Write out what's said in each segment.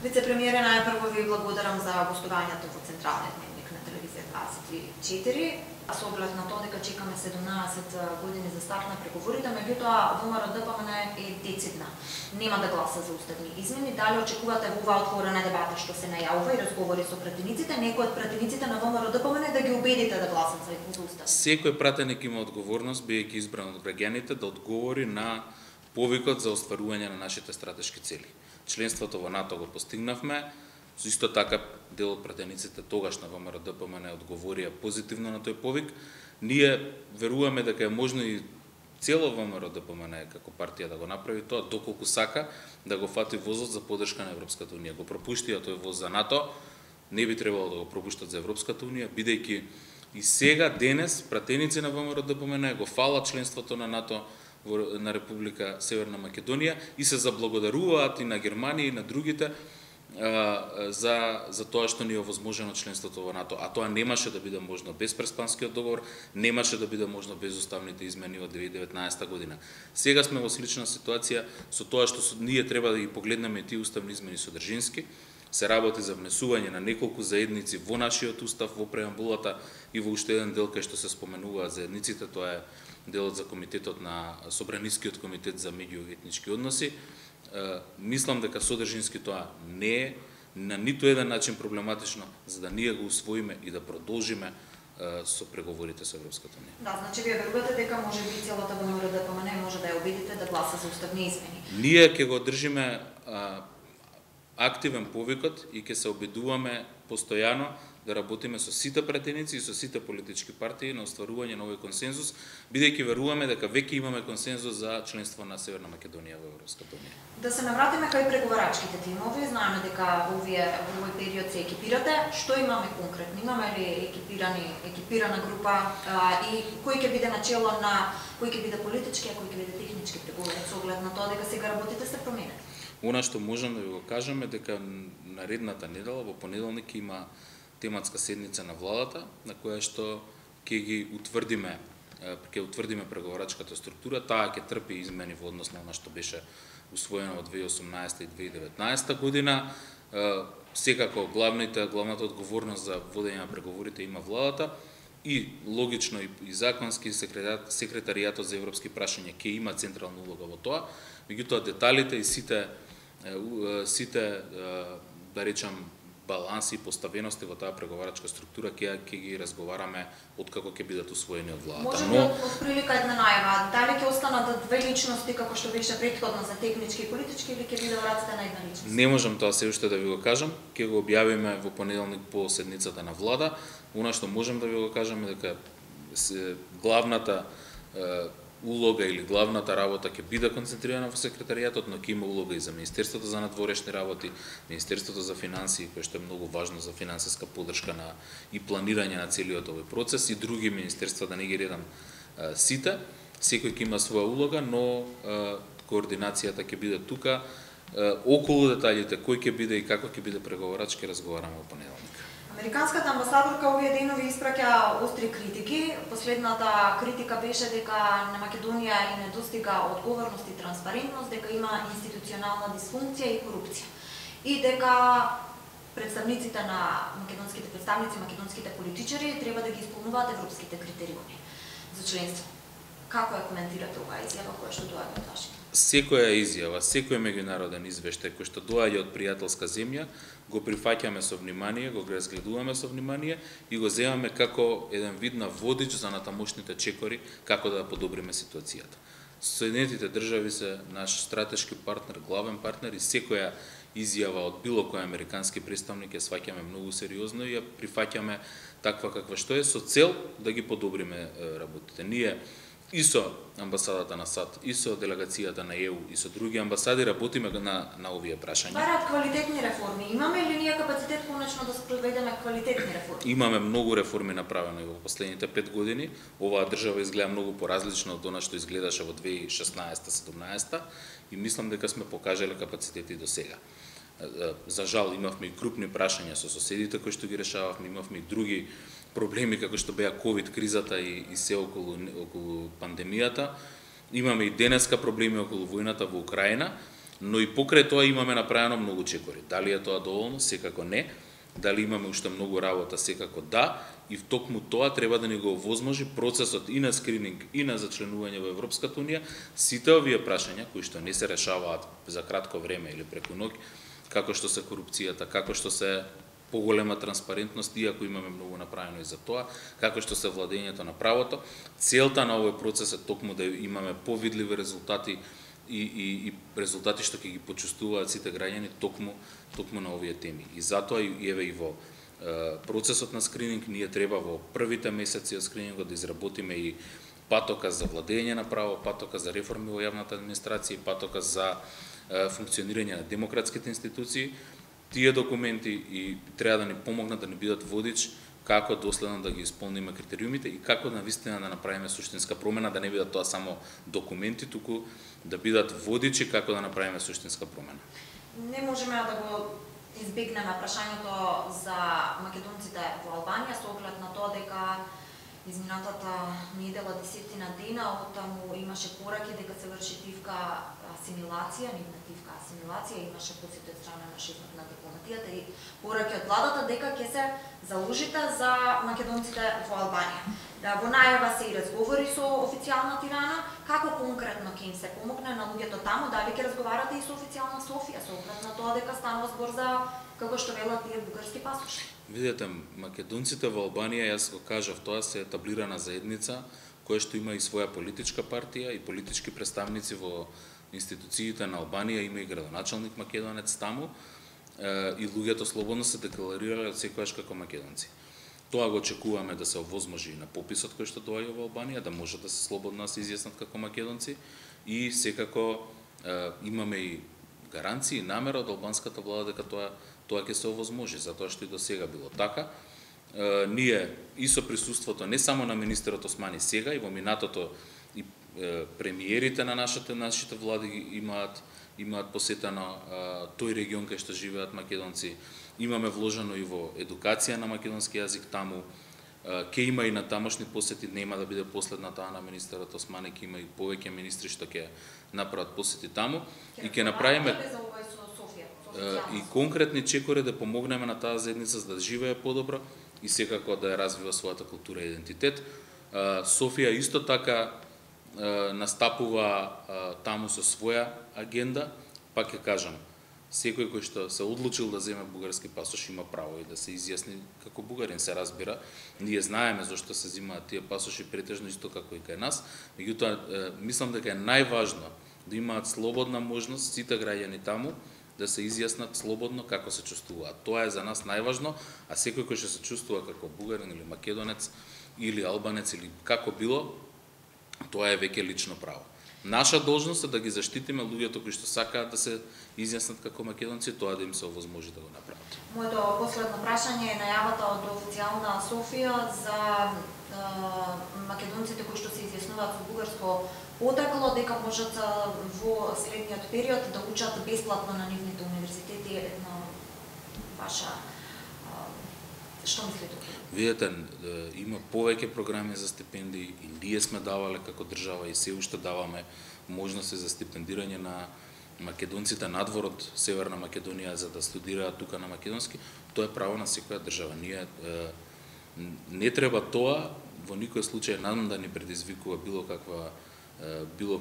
Вице-премиере, најпрво ви благодарам за гостувањето во Централниот дневник на телевизија 24. Со оглед на тоа дека чекаме 17 години за старт на преговорите, меѓутоа ВМРО-ДПМН е децидна. Нема да гласа за уставни измени. Дали очекувате во оваа отворена дебата што се најавува и разговори со пратениците, некои од пратениците на ВМРО-ДПМН да ги убедите да гласат за устав? Секој пратеник има одговорност, бидејќи избран од граѓаните, да одговори на повикот за остварување на нашите стратешки цели. Членството во НАТО го постигнавме. Исто така дел од пратениците тогаш на ВМРО-ДПМН одговорија позитивно на тој повик. Ние веруваме дека е можно и цело ВМРО-ДПМН како партија да го направи тоа, доколку сака да го фати возот за поддршка на Европската унија. Го пропуштија тој воз за НАТО, не би требало да го пропуштат за Европската унија, бидејќи и сега денес пратеници на ВМРО-ДПМН го фалат членството на НАТО на Република Северна Македонија и се заблагодаруваат и на Германија и на другите за тоа што ни е овозможено членството во НАТО, а тоа немаше да биде можно без Преспанскиот договор, немаше да биде можно без уставните измени од 2019 година. Сега сме во слична ситуација со тоа што ние треба да ги погледнеме тие уставни измени содржински. Се работи за внесување на неколку заедници во нашиот устав, во преамбулата и во уште еден дел кај што се споменуваат заедниците, тоа е делот за комитетот на Собранискиот комитет за меѓуетнички односи. Мислам дека содржински тоа не е на ниту еден начин проблематично, за да ние го усвоиме и да продолжиме со преговорите со Европската унија. Да, значи вие верувате дека може би целата ВМРО-ДПМН може да ја убедите да гласа за уставни измени. Ние ќе го држиме активен повикот и ќе се обидуваме постојано да работиме со сите пратеници и со сите политички партии на остварување на овој консензус, бидејќи веруваме дека веќе имаме консензус за членство на Северна Македонија во Европската унија. Да се навратиме кај преговарачките тимови, знаеме дека во овој период се екипирате. Што имаме конкретно? Имаме ли екипирана група и кој ќе биде начело на кој ќе биде политички, а кој ќе биде технички преговори со оглед на тоа дека сега работите се променет? Она што можам да ви го кажеме дека наредната недела во понеделник има тематска седница на владата на која што ќе утврдиме преговарачката структура. Таа ќе трпи измени во однос на она што беше усвоено во 2018 и 2019 година. Секако главната одговорност за водење на преговорите има владата и логично и законски секретаријатот за европски прашања ќе има централна улога во тоа. Меѓутоа деталите и сите да речам баланси и поставености во таа преговарачка структура ќе ги разговараме откако ќе бидат усвоени од владата. Може би од прилика една најава, дали ќе останат две личности како што беше претходно за технички и политички или ќе биде вратите на една личност? Не можам тоа се уште да ви го кажам, ќе го објавиме во понеделник по седницата на влада. Она што можам да ви го кажам е дека главната улога или главната работа ќе биде концентрирана во секретаријатот, но ќе има улога и за Министерството за надворешни работи, Министерството за финансии, кое што е многу важно за финансиска поддршка и планирање на целиот овој процес, и други министерства, да не ги редам сите. Секој ќе има своја улога, но координацијата ќе биде тука. Околу деталите, кој ќе биде и како ќе биде преговарач, ќе разговараме во понеделник. Американската амбасадорка овие денови испраќа остри критики. Последната критика беше дека на Македонија и недостига одговорност и транспарентност, дека има институционална дисфункција и корупција. И дека македонските политичари треба да ги исполнуваат европските критериуми за членство. Како ја коментирате оваа изјава која што доаѓа од Вашингтон? Секоја изјава, секој меѓународен извештај кој што доаѓа од пријателска земја, го прифаќаме со внимание, го разгледуваме со внимание и го земаме како еден вид на водич за натамошните чекори како да подобриме ситуацијата. Соединетите држави се наш стратешки партнер, главен партнер и секоја изјава од било кој американски представник ја сваќаме многу сериозно и ја прифаќаме таква каква што е со цел да ги подобриме работите. Ние и со амбасадата на САД, и со делегацијата на ЕУ, и со други амбасади работиме на овие прашања. Бараат квалитетни реформи. Имаме ли ние капацитет конечно да спроведеме квалитетни реформи? Имаме многу реформи направени во последните 5 години. Оваа држава изгледа многу поразлично од она што изгледаше во 2016-17 и мислам дека сме покажале капацитети до сега. За жал имавме и крупни прашања со соседите кои што ги решававме, имавме и други проблеми како што беа ковид кризата и се околу пандемијата. Имаме и денеска проблеми околу војната во Украина, но и покрај тоа имаме направено многу чекори. Дали е тоа доволно? Секако не. Дали имаме уште многу работа? Секако да. И втокму тоа треба да ни го овозможи процесот и на скрининг и на зачленување во Европската унија, сите овие прашања кои што не се решаваат за кратко време или преку ноќ, како што се корупцијата, како што се поголема транспарентност, иако имаме многу направено и за тоа, како што се владењето на правото. Целта на овој процес е токму да имаме повидливи резултати и резултати што ќе ги почувствуваат сите граѓани токму на овие теми. И затоа еве и во процесот на скрининг ние треба во првите месеци од скринингот да изработиме и патока за владење на право, патока за реформи во јавната администрација, патока за функционирање на демократските институции. Тие документи и треба да ни помогнат да ни бидат водич како доследно да ги исполниме критериумите и како навистина да направиме суштинска промена, да не бидат тоа само документи, туку да бидат водичи како да направиме суштинска промена. Не можеме да го избегнеме прашањето за македонците во Албанија со оглед на тоа дека изминатата недела 10 дена од таму имаше пораки дека се врши тивка асимилација, нивна асимилација, имаше посета од страна на шефот на дипломатијата и пораки од владата дека ќе се заложите за македонците во Албанија. Во најава се и разговори со официјална Тирана, како конкретно ќе им се помогне на луѓето таму, дали ќе разговарате и со официјална Софија, со оглед на тоа дека станува збор за, како што велат тие бугарски пасоши. Видете, македонците во Албанија, јас го кажав, тоа се етаблирана заедница која што има и своја политичка партија и политички представници во институциите на Албанија, има и градоначалник македонец таму и луѓето слободно се декларирале секогаш како македонци. Тоа го очекуваме да се овозможи на пописот кој што доаѓа во Албанија, да може да се слободно се изјаснат како македонци и секако имаме и гаранции и намера од албанската влада дека тоа ќе се овозможи, затоа што и до сега било така. Ние и со присуството не само на министерот Османи сега и во минатото и премиерите на нашите влади имаат посетено тој регион кај што живеат македонци. Имаме вложено и во едукација на македонски јазик таму. Ке има и на тамошни посети, нема да биде последна таа на министерот Османи, ке има и повеќе министри што ќе направат посети таму и ќе направиме и конкретни чекори да помогнеме на таа заедница за да живее подобро и секако да ја развива својата култура и идентитет. Софија исто така настапува таму со своја агенда, пак ќе кажам, секој кој што се одлучил да земе бугарски пасош има право и да се изјасни како бугарин, се разбира. Ние знаеме зошто се земаат тие пасоши претежно исто како и кај нас, меѓутоа мислам дека е најважно да имаат слободна можност сите граѓани таму да се изјаснат слободно како се чувствуваат. Тоа е за нас најважно, а секој кој што се чувствува како бугарин или македонец или албанец или како било, тоа е веќе лично право. Наша должност е да ги заштитиме луѓето кои што сакаат да се изјаснат како македонци, тоа да им се овозможи да го направат. Моето последно прашање е најавата од официјална Софија за македонците кои што се изјаснуваат со бугарско потекло дека можат во следниот период да учат бесплатно на нивните универзитети. Една ваша што мислите? Видете, има повеќе програми за стипендии и ние сме давале како држава и се уште даваме можности за стипендирање на македонците надвор од Северна Македонија за да студираат тука на македонски. Тоа е право на секоја држава. Ние не треба тоа во никој случај нам да ни предизвикува било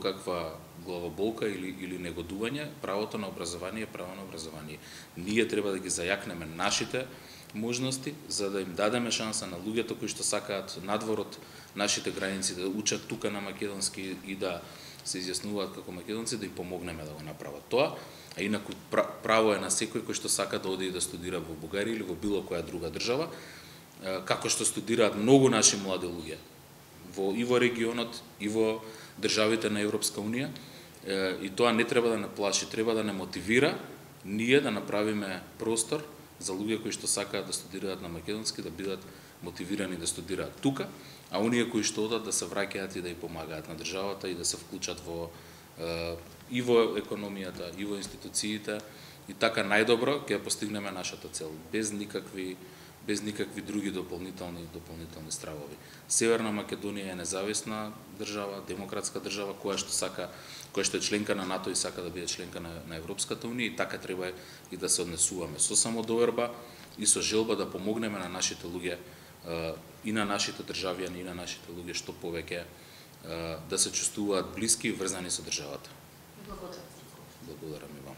каква главоболка или негодување. Правото на образование е право на образование. Ние треба да ги зајакнеме нашите можности за да им дадеме шанса на луѓето кои што сакаат надвор од нашите граници да учат тука на македонски и да се изјаснуваат како македонци, да им помогнеме да го направат тоа. А инаку право е на секој кој што сака да оди и да студира во Бугарија или во било која друга држава, како што студираат многу наши млади луѓе и во регионот и во државите на Европска унија, и тоа не треба да не плаши, треба да не мотивира ние да направиме простор за луѓе кои што сакаат да студираат на македонски да бидат мотивирани да студираат тука, а оние кои што одат да се враќаат и да ја помагаат на државата и да се вклучат и во економијата, и во институциите, и така најдобро ќе постигнеме нашата цел без без никакви други дополнителни стравови. Северна Македонија е независна држава, демократска држава која што е членка на НАТО и сака да биде членка на Европската унија, и така треба и да се однесуваме со самодоверба и со желба да помогнеме на нашите луѓе и на нашите државјани и на нашите луѓе што повеќе да се чувствуваат блиски и врзани со државата. Благодарам. Благодарам и вам.